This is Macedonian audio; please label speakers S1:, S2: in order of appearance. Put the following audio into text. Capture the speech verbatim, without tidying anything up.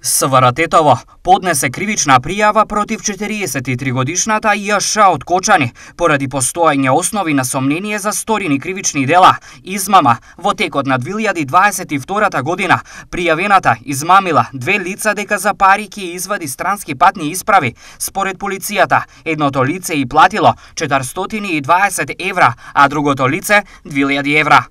S1: СВР-тетово поднесе кривична пријава против четириесет и три годишната Ј.Ш. од Кочани поради постоење основи на сомнение за сторени кривични дела, измама во текот на две илјади дваесет и втора година. Пријавената измамила две лица дека за пари ќе извади странски патни исправи. Според полицијата, едното лице и платило четиристотини и дваесет евра, а другото лице две илјади евра.